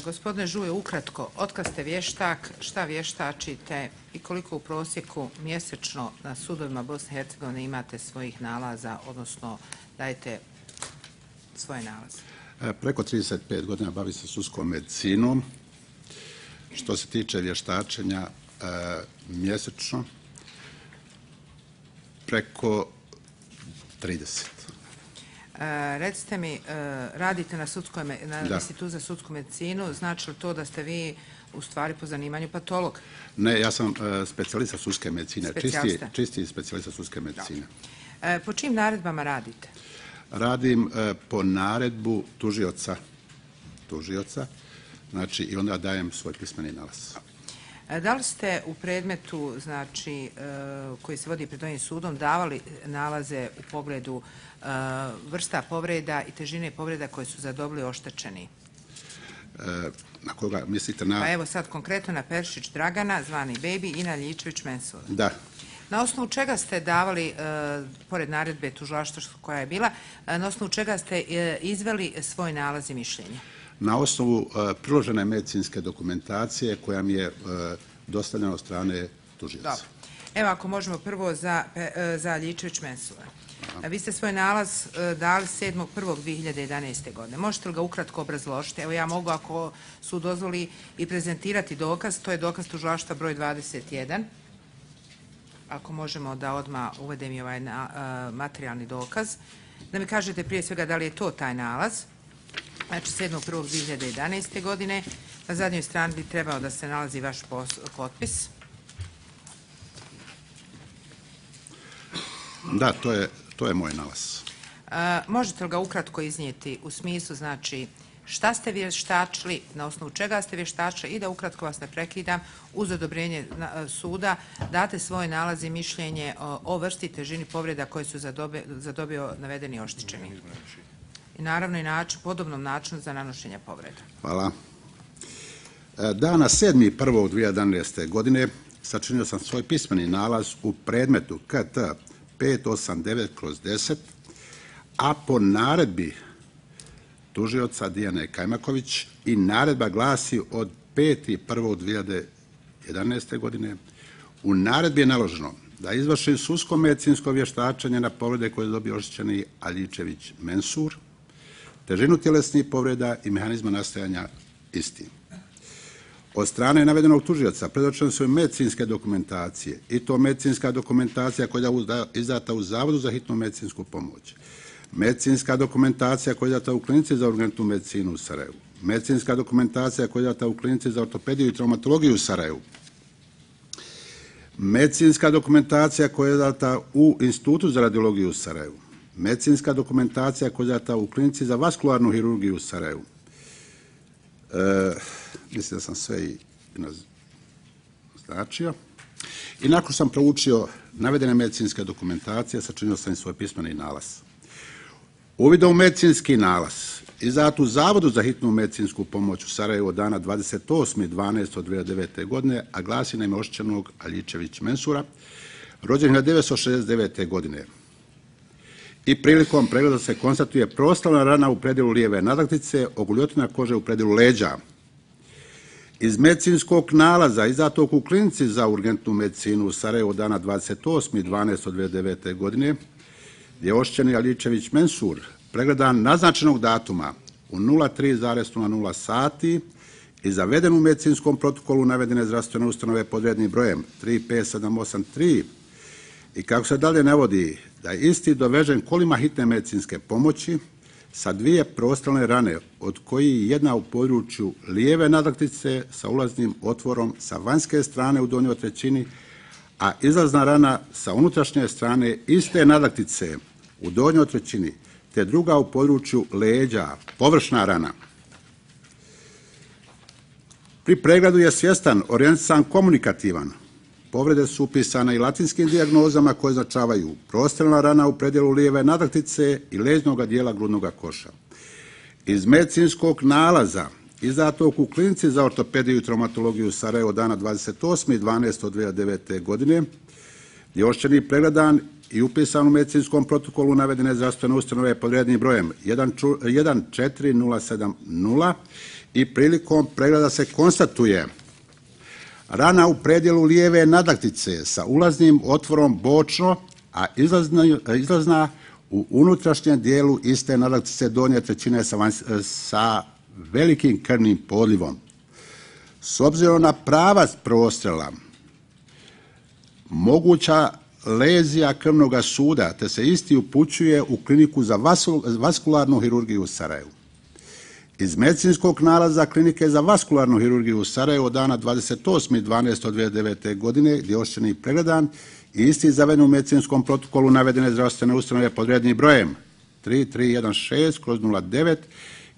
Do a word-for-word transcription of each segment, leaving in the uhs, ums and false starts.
Gospodine Žuje, ukratko, otkad ste vještak, šta vještačite i koliko u prosjeku mjesečno na sudovima Bosne i Hercegovine imate svojih nalaza, odnosno dajete svoje nalaze? Preko trideset pet godina bavim se sudskom medicinom. Što se tiče vještačenja mjesečno, preko trideset. Recite mi, radite na, sudskoj, na Institutu za sudsku medicinu, znači li to da ste vi u stvari po zanimanju patolog? Ne, ja sam specijalista sudske medicine, čisti, čisti specijalista sudske medicine. Da. Po čim naredbama radite? Radim po naredbu tužioca, tužioca, znači i onda dajem svoj pismeni nalaz. Da li ste u predmetu, znači, koji se vodi pred ovim sudom, davali nalaze u pogledu vrsta povreda i težine povreda koje su zadobili oštećeni? Na koga mislite? Na... Pa evo sad konkretno na Peršić Dragana, zvani Baby, i na Ljičević Mensura. Da. Na osnovu čega ste davali, pored naredbe tužilaštva koja je bila, na osnovu čega ste izveli svoj nalaz i mišljenje? Na osnovu priložene medicinske dokumentacije koja mi je dostavljena od strane tužioca. Dobro. Evo ako možemo prvo za, za Ljičević Mensura. Vi ste svoj nalaz dali sedmog prvog dve hiljade jedanaeste. godine. Možete li ga ukratko obrazložiti? Evo ja mogu, ako su dozvoli, i prezentirati dokaz. To je dokaz tužilaštva broj dvadeset jedan. Ako možemo da odmah uvedem i ovaj materijalni dokaz. Da mi kažete prije svega da li je to taj nalaz. Znači sedmog prvog dve hiljade jedanaeste. godine. Na zadnjoj strani bi trebao da se nalazi vaš potpis. Da, to je, to je moj nalaz. Možete li ga ukratko iznijeti u smislu, znači, šta ste vještačili, na osnovu čega ste vještačili i da ukratko vas ne prekidam, uz odobrenje suda date svoj nalaz i mišljenje o vrsti i težini povreda koje su zadobio navedeni oštećeni. I naravno i način, podobnom načinu za nanošenje povreda. Hvala. Dana sedmog prvog dve hiljade jedanaeste. godine sačinio sam svoj pismeni nalaz u predmetu K T pet osam devet kroz deset, a po naredbi tužioca Dijane Kajmaković i naredba glasi od petog prvog dve hiljade jedanaeste. godine. U naredbi je naloženo da izvršim sudsko medicinsko vještačenje na povrede koje je dobio oštećeni Ljičević Mensur, težinu tjelesnih povreda i mehanizma nastajanja isti. Od strane navedenog tužioca predočene su medicinske dokumentacije, i to medicinska dokumentacija koja je izdata u Zavodu za hitnu medicinsku pomoć, medicinska dokumentacija koja je izdata u Klinici za urgentnu medicinu u Sarajevu, medicinska dokumentacija koja je izdata u Klinici za ortopediju i traumatologiju u Sarajevu, medicinska dokumentacija koja je izdata u Institutu za radiologiju u Sarajevu, medicinska dokumentacija koja je izdata u Klinici za vaskularnu hirurgiju u Sarajevu. E, mislim da sam sve i naznačio. I nakon sam proučio navedene medicinske dokumentacije, sačinio sam i svoj pismeni nalaz. Uvidom u medicinski nalaz izdat u Zavodu za hitnu medicinsku pomoć u Sarajevu od dana dvadeset osmog dvanaestog dve hiljade devete. godine, a glasi na ime oštećenog Ljičević Mensura, rođen hiljadu devetsto šezdeset devete. godine. I prilikom pregleda se konstatuje prostrelna rana u predjelu lijeve nadlaktice, oguljotina kože u predjelu leđa. Iz medicinskog nalaza izdatog u Klinici za urgentnu medicinu u Sarajevu od dana dvadeset osmog dvanaestog dve hiljade devete. godine, gdje je oštećeni Ljičević Mensur pregledan naznačenog datuma u nula tri zarez nula nula sati i zaveden u medicinskom protokolu navedene zdravstvene ustanove pod rednim brojem tri pet sedam osam tri, i kako se dalje navodi da je isti dovežen kolima hitne medicinske pomoći sa dvije prostrelne rane, od koji jedna u području lijeve nadlaktice sa ulaznim otvorom sa vanjske strane u donjoj trećini, a izlazna rana sa unutrašnje strane iste nadlaktice u donjoj trećini, te druga u području leđa, površna rana. Pri pregledu je svjestan, orijentisan, komunikativan. Povrede su upisane i latinskim dijagnozama koje označavaju prostrelna rana u predjelu lijeve nadlaktice i leđnog dijela grudnog koša. Iz medicinskog nalaza izdatog u Klinici za ortopediju i traumatologiju Sarajevo dana dvadeset osmog dvanaestog dve hiljade devete. godine je oštećeni pregledan i upisan u medicinskom protokolu navedene zdravstvene ustanove pod rednim brojem jedan četiri nula sedam nula i prilikom pregleda se konstatuje rana u predjelu lijeve nadlaktice sa ulaznim otvorom bočno, a izlazna, izlazna u unutrašnjem dijelu iste nadlaktice donje trećine sa, vanj, sa velikim krvnim podlivom. S obzirom na pravac prostrela, moguća lezija krvnog suda, te se isti upućuje u kliniku za vaskularnu hirurgiju u Sarajevu. Iz medicinskog nalaza klinike za vaskularnu hirurgiju u Sarajevu od dana dvadeset osmi dvanaesti dvije hiljade devete. godine gdje je oštećenik pregledan i isti zaveden u medicinskom protokolu navedene zdravstvene ustanove pod rednim brojem tri tri jedan šest kroz nula devet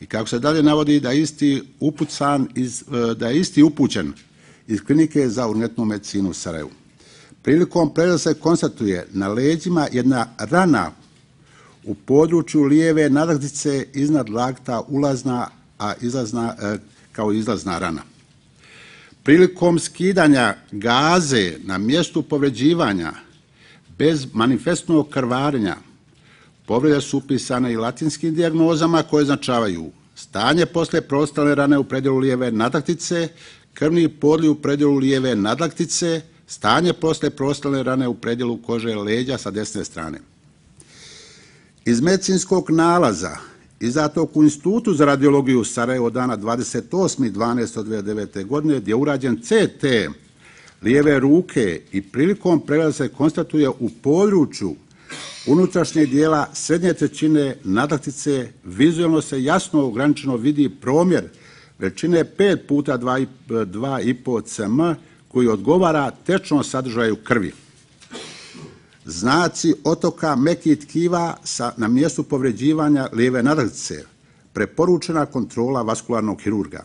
i kako se dalje navodi da je isti upucan iz, da je isti upućen iz klinike za urgentnu medicinu u Sarajevu. Prilikom pregleda se konstatuje na leđima jedna rana u području lijeve nadlaktice iznad lakta ulazna, a izlazna, kao izlazna rana. Prilikom skidanja gaze na mjestu povređivanja bez manifestnog krvarenja povrede su upisane i latinskim dijagnozama koje označavaju stanje poslije prostrelne rane u predjelu lijeve nadlaktice, krvni podliv u predjelu lijeve nadlaktice, stanje poslije prostrelne rane u predjelu kože leđa sa desne strane. Iz medicinskog nalaza izdatog u Institutu za radiologiju Sarajevo od dana dvadeset osmi dvanaesti dvije hiljade devete. godine gdje je urađen C T lijeve ruke i prilikom pregleda se konstatuje u području unutrašnjeg dijela srednje trećine nadlaktice vizualno se jasno ograničeno vidi promjer veličine pet puta dva i po centimetra koji odgovara tečnom sadržaju krvi. Znaci otoka mekih tkiva sa, na mjestu povređivanja lijeve nadlaktice, preporučena kontrola vaskularnog hirurga.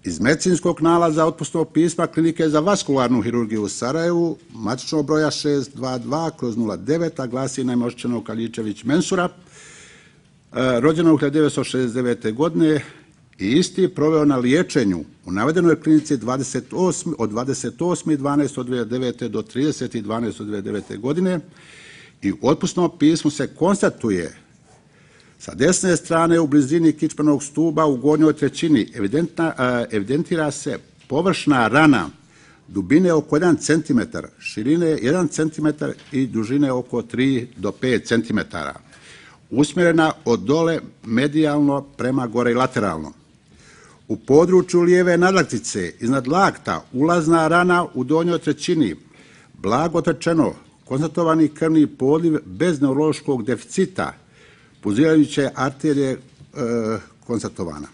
Iz medicinskog nalaza otpusnog pisma klinike za vaskularnu hirurgiju u Sarajevu, matičnog broja šest dva dva kroz nula devet, a glasi naime oštećenog Kaljičević Mensura, rođenog hiljadu devetsto šezdeset devete. godine i isti proveo na liječenju u navedenoj klinici dvadeset osmi od dvadeset osmi dvanaesti dvije hiljade devete. do trideseti dvanaesti dvije hiljade devete. godine i u otpusnom pismu se konstatuje sa desne strane u blizini kičmenog stuba u gornjoj trećini evidentira se površna rana dubine oko jedan centimetar, širine jedan centimetar i dužine oko tri do pet centimetara, usmjerena od dole medijalno prema gore i lateralno. U području lijeve nadlaktice iznad lakta ulazna rana u donjoj trećini, blago rečeno konstatovani krvni podliv bez neurološkog deficita, pulzirajuće arterije e, konstatovana.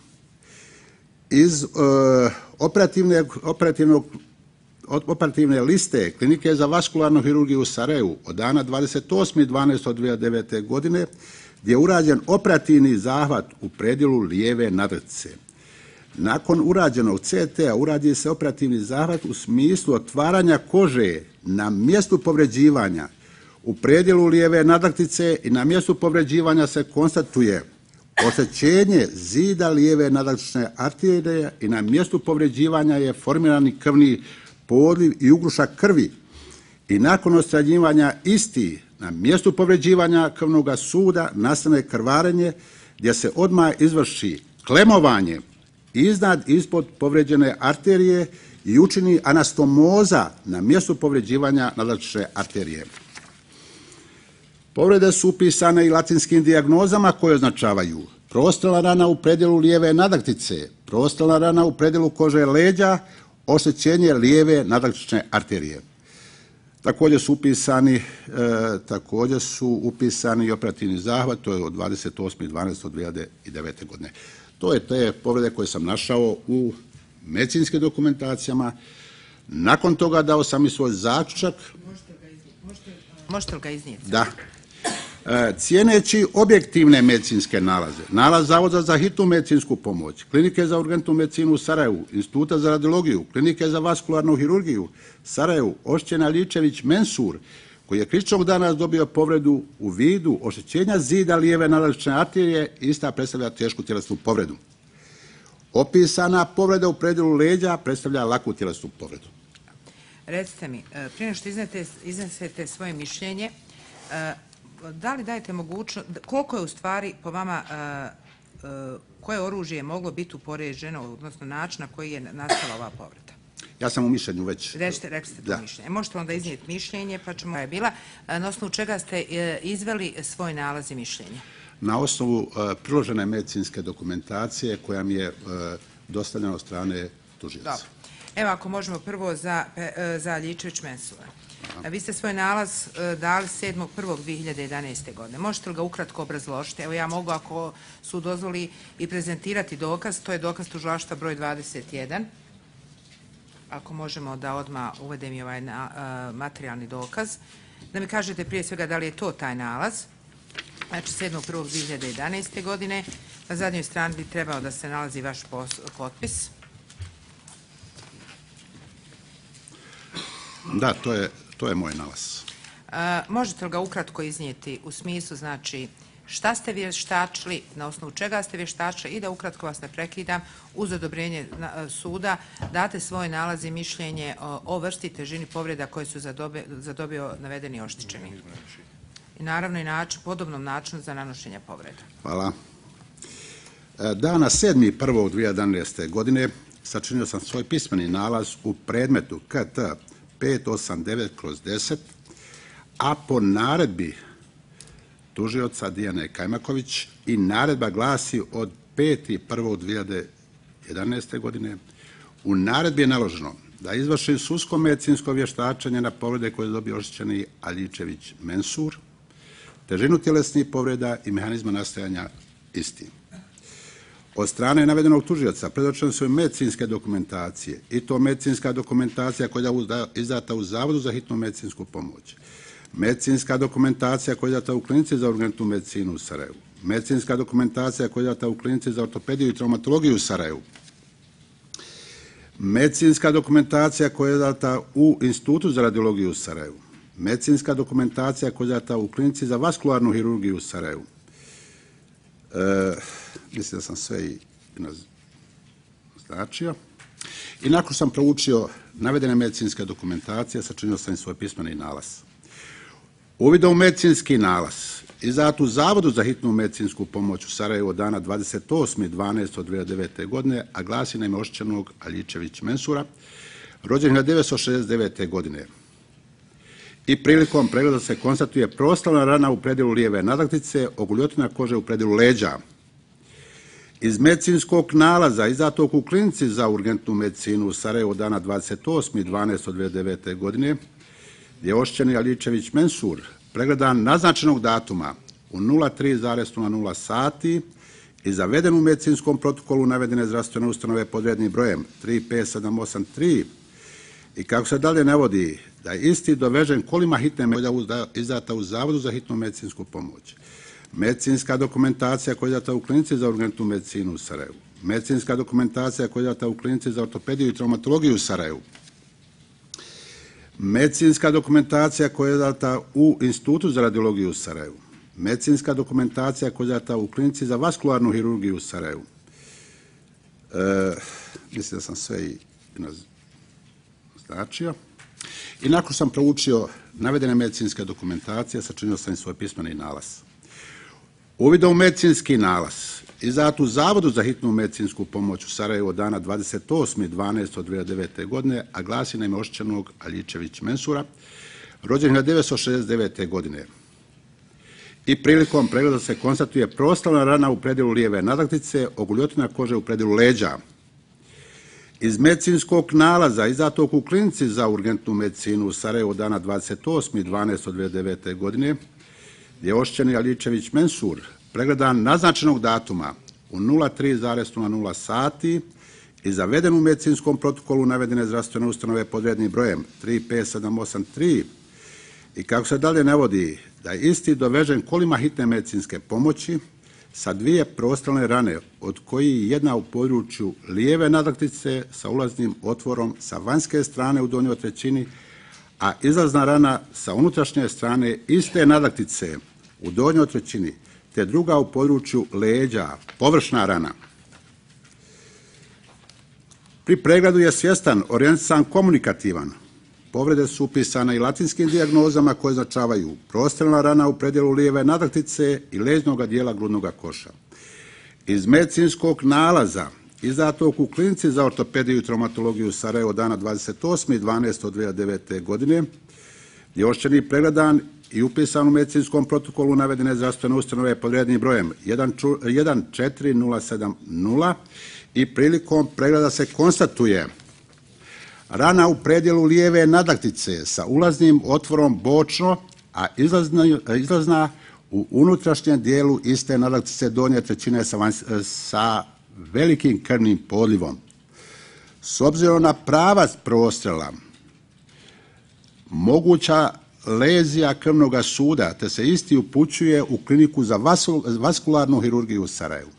Iz e, operativne, operativnog, operativne liste klinike za vaskularnu hirurgiju u Sarajevu od dana dvadeset osmi dvanaesti dvije hiljade devete. godine gdje je urađen operativni zahvat u predjelu lijeve nadlaktice. Nakon urađenog C T-a uradi se operativni zahvat u smislu otvaranja kože na mjestu povređivanja u predjelu lijeve nadlaktice i na mjestu povređivanja se konstatuje oštećenje zida lijeve nadlaktične arterije i na mjestu povređivanja je formirani krvni podliv i ugrušak krvi i nakon odstranjivanja isti na mjestu povređivanja krvnog suda nastane krvarenje gdje se odmah izvrši klemovanje iznad ispod povređene arterije i učini anastomoza na mjestu povređivanja nadlaktične arterije. Povrede su upisane i latinskim dijagnozama koje označavaju prostrelna rana u predjelu lijeve nadlaktice, prostrelna rana u predjelu kože leđa, oštećenje lijeve nadlaktične arterije. Također su upisani, e, također su upisani i operativni zahvat, to je od dvadeset osmi dvanaesti dvije hiljade devete. godine. To je te povrede koje sam našao u medicinskim dokumentacijama. Nakon toga dao sam i svoj zaključak. Možete li ga iznijeti? Možete, možete li ga iznijeti? Da. E, cijeneći objektivne medicinske nalaze, nalaz Zavoda za hitnu medicinsku pomoć, klinike za urgentnu medicinu u Sarajevu, Instituta za radiologiju, klinike za vaskularnu hirurgiju Sarajevu, oštećen Kaljičević Mensur, koji je kričnog danas dobio povredu u vidu oštećenja zida lijeve nadlaktične arterije, ista predstavlja tešku tjelesnu povredu. Opisana povreda u predjelu leđa predstavlja laku tjelesnu povredu. Recite mi, prije nego što iznesete svoje mišljenje, da li dajete mogućnost, koliko je u stvari po vama koje oružje je moglo biti upoređeno, odnosno način na koji je nastala ova povreda? Ja sam u mišljenju već... Rećete, rekli ste to mišljenje. Možete onda iznijeti mišljenje, pa ćemo... je bila. Na osnovu čega ste izveli svoj nalaz i mišljenje? Na osnovu priložene medicinske dokumentacije koja mi je dostavljena od strane tužioca. Dobro. Evo, ako možemo prvo za Ljičević-Mensura. Vi ste svoj nalaz dali sedmog prvog dve hiljade jedanaeste. godine. Možete li ga ukratko obrazložiti? Evo, ja mogu, ako su dozvoli, i prezentirati dokaz. To je dokaz tužilaštva broj dvadeset jedan. Ako možemo da odmah uvedem i ovaj materijalni dokaz. Da mi kažete prije svega da li je to taj nalaz. Znači, sedmog prvog dve hiljade jedanaeste. godine. Na zadnjoj strani bi trebao da se nalazi vaš potpis. Da, to je, to je moj nalaz. Možete li ga ukratko iznijeti u smislu, znači, šta ste vještačili, na osnovu čega ste vještačili i da ukratko vas ne prekidam, uz odobrenje suda date svoj nalaz i mišljenje o vrsti, težini povreda koje su zadobio navedeni oštećeni. I naravno i način, podobnom načinu za nanošenje povreda. Hvala. Dana sedmog prvog dve hiljade jedanaeste. godine sačinio sam svoj pismeni nalaz u predmetu K T pet osam devet kroz deset, a po naredbi tužioca Dijane Kajmaković i naredba glasi od petog prvog dve hiljade jedanaeste. godine. U naredbi je naloženo da izvrši sudsko medicinsko vještačenje na povrede koje je dobio oštećeni Ljičević-Mensur, težinu tjelesnih povreda i mehanizma nastajanja isti. Od strane navedenog tužioca predočene su medicinske dokumentacije, i to medicinska dokumentacija koja je izdata u Zavodu za hitnu medicinsku pomoć, medicinska dokumentacija koja je izdata u Klinici za urgentnu medicinu u Sarajevu, medicinska dokumentacija koja je izdata u Klinici za ortopediju i traumatologiju u Sarajevu, medicinska dokumentacija koja je izdata u Institutu za radiologiju u Sarajevu, medicinska dokumentacija koja je izdata u Klinici za vaskularnu hirurgiju u Sarajevu. Mislim da sam sve i naznačio. I nakon sam proučio navedene medicinske dokumentacije, sačinio sam i svoj pismeni nalaz. Uvidom u medicinski nalaz izdat u Zavodu za hitnu medicinsku pomoć u Sarajevu od dana dvadeset osmog dvanaestog dve hiljade devete. godine, a glasi na ime oštećenog Ljičević-Mensura, rođen hiljadu devetsto šezdeset devete. godine. I prilikom pregleda se konstatuje prostalna rana u predjelu lijeve nadlaktice, oguljotina kože u predjelu leđa. Iz medicinskog nalaza izdatog u Klinici za urgentnu medicinu u Sarajevu od dana dvadeset osmog dvanaestog dve hiljade devete. godine je oštećeni Ljičević-Mensur pregledan naznačenog datuma u nula tri zarez nula nula sati i zaveden u medicinskom protokolu navedene zdravstvene ustanove pod rednim brojem tri pet sedam osam tri, i kako se dalje navodi da je isti dovežen kolima hitne medicine izdata u Zavodu za hitnu medicinsku pomoć, medicinska dokumentacija koja je izdata u Klinici za urgentnu medicinu u Sarajevu, medicinska dokumentacija koja je izdata u Klinici za ortopediju i traumatologiju u Sarajevu, medicinska dokumentacija koja je izdata u Institutu za radiologiju u Sarajevu, medicinska dokumentacija koja je izdata u Klinici za vaskularnu hirurgiju u Sarajevu. Mislim da sam sve i naznačio. I nakon sam proučio navedene medicinske dokumentacije, sačinio sam i svoj pismeni nalaz. Uvidom u medicinski nalaz izdat u Zavodu za hitnu medicinsku pomoć u Sarajevu od dana dvadeset osmog dvanaestog dve hiljade devete. godine, a glasi na ime oštećenog Ljičević-Mensura, rođen hiljadu devetsto šezdeset devete. godine. I prilikom pregleda se konstatuje prostalna rana u predjelu lijeve nadlaktice, oguljotina kože u predjelu leđa. Iz medicinskog nalaza izdatog u Klinici za urgentnu medicinu u Sarajevu od dana dvadeset osmog dvanaestog dve hiljade devete. godine je oštećeni Ljičević-Mensur pregledan naznačenog datuma u nula tri zarez nula nula sati i zaveden u medicinskom protokolu navedene zdravstvene ustanove pod rednim brojem tri pet sedam osam tri, i kako se dalje navodi da je isti dovežen kolima hitne medicinske pomoći sa dvije prostalne rane, od koji jedna u području lijeve nadlaktice sa ulaznim otvorom sa vanjske strane u donjoj trećini, a izlazna rana sa unutrašnje strane iste nadlaktice u donjoj trećini, te druga u području leđa, površna rana. Pri pregledu je svjestan, orijentisan, komunikativan. Povrede su upisane i latinskim dijagnozama koje označavaju prostalna rana u predjelu lijeve nadlaktice i leđnog dijela grudnog koša. Iz medicinskog nalaza izdatog u Klinici za ortopediju i traumatologiju Sarajevo dana dvadeset osmi dvanaesti dve hiljade devete. godine je ošćeni pregledan i upisan u medicinskom protokolu navedene zdravstvene ustanove pod rednim brojem jedan četiri nula sedam nula i prilikom pregleda se konstatuje rana u predjelu lijeve nadlaktice sa ulaznim otvorom bočno, a izlazna, izlazna u unutrašnjem dijelu iste nadlaktice donje trećine sa, vanj, sa velikim krvnim podlivom. S obzirom na pravac prostrela, moguća lezija krvnog suda, te se isti upućuje u Kliniku za vaskularnu hirurgiju u Sarajevu.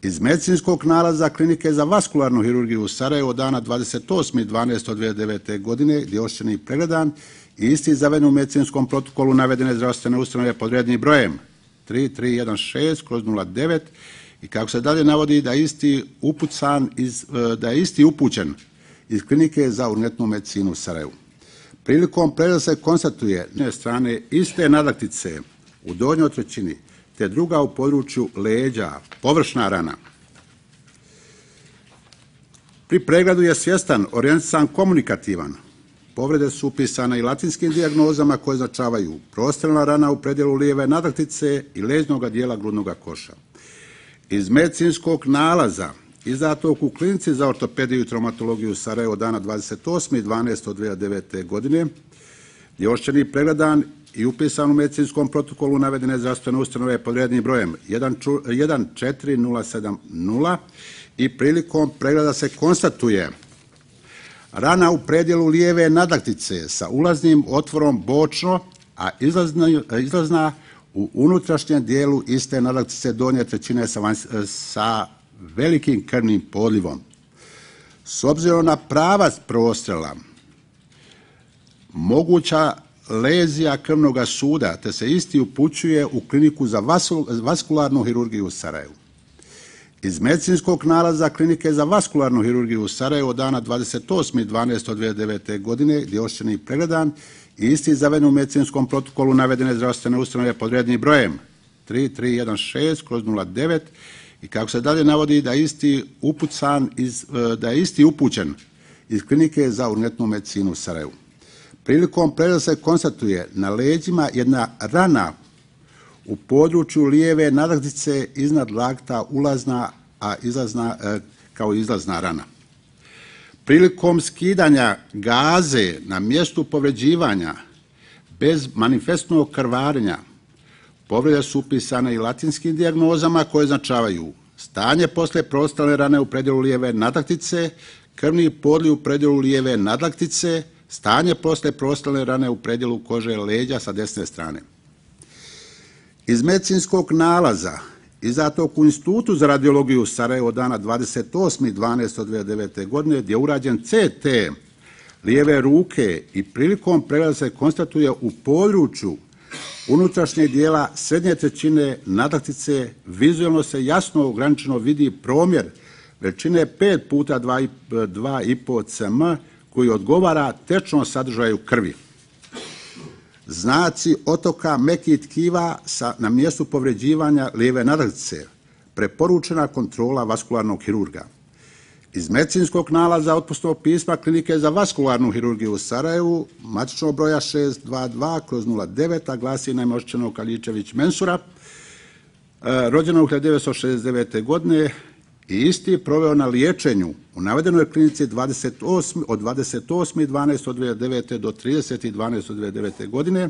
Iz medicinskog nalaza Klinike za vaskularnu hirurgiju u Sarajevo dana dvadeset osmi dvanaesti dve hiljade devete. godine gdje je ošćeni pregledan i isti zaveden u medicinskom protokolu navedene zdravstvene ustanove pod rednim brojem tri tri jedan šest nula devet i kako se dalje navodi da je isti upucan iz, da je isti upućen iz Klinike za urgentnu medicinu u Sarajevu. Prilikom pregleda se konstatuje s jedne strane iste nadlaktice u donjoj trećini te druga u području leđa, površna rana. Pri pregledu je svjestan, orijentisan, komunikativan. Povrede su upisane i latinskim dijagnozama koje označavaju prostrelna rana u predjelu lijeve nadlaktice i leđnog dijela grudnog koša. Iz medicinskog nalaza izdatog u Klinici za ortopediju i traumatologiju Sarajevo dana dvadeset osmi dvanaesti dve hiljade devete. godine je ošćeni pregledan i upisan u medicinskom protokolu navedene zdravstvene ustanove pod rednim brojem jedan četiri nula sedam nula i prilikom pregleda se konstatuje rana u predjelu lijeve nadlaktice sa ulaznim otvorom bočno, a izlazna, izlazna u unutrašnjem dijelu iste nadlaktice donje trećine sa, vanj, sa velikim krvnim podlivom. S obzirom na pravac prostrela, moguća lezija krvnog suda, te se isti upućuje u Kliniku za vaskularnu hirurgiju u Sarajevu. Iz medicinskog nalaza Klinike za vaskularnu hirurgiju u Sarajevo dana dvadeset osmi dvanaesti dve hiljade devete. godine gdje je ošćeni pregledan i isti zaveden u medicinskom protokolu navedene zdravstvene ustanove pod rednim brojem tri tri jedan šest nula devet i kako se dalje navodi da je isti upucan iz, da je isti upućen iz Klinike za urgentnu medicinu u Sarajevu. Prilikom pregleda se konstatuje na leđima jedna rana u području lijeve nadlaktice iznad lakta ulazna, a izlazna, kao izlazna rana. Prilikom skidanja gaze na mjestu povređivanja bez manifestnog krvarenja povrede su upisane i latinskim dijagnozama koje označavaju stanje posle prostrelne rane u predjelu lijeve nadlaktice, krvni podliv u predjelu lijeve nadlaktice, stanje posle prostrelne rane u predjelu kože leđa sa desne strane. Iz medicinskog nalaza izdatog u Institutu za radiologiju Sarajevo dana dvadeset osmi dvanaesti dve hiljade devete. godine gdje je urađen C T lijeve ruke i prilikom pregleda se konstatuje u području unutrašnjeg dijela srednje trećine nadlaktice vizualno se jasno ograničeno vidi promjer veličine pet puta dva i po centimetra koji odgovara tečnom sadržaju krvi. Znaci otoka mekih tkiva sa, na mjestu povređivanja lijeve nadlaktice, preporučena kontrola vaskularnog hirurga. Iz medicinskog nalaza otpusnog pisma Klinike za vaskularnu hirurgiju u Sarajevu, matičnog broja šest dva dva nula devet, a glasi na ime ošćenog Kaljičević Mensura, rođenog hiljadu devetsto šezdeset devete. godine i isti proveo na liječenju u navedenoj klinici dvadeset osmi od dvadeset osmi dvanaesti dve hiljade devete. do trideseti dvanaesti dve hiljade devete. godine.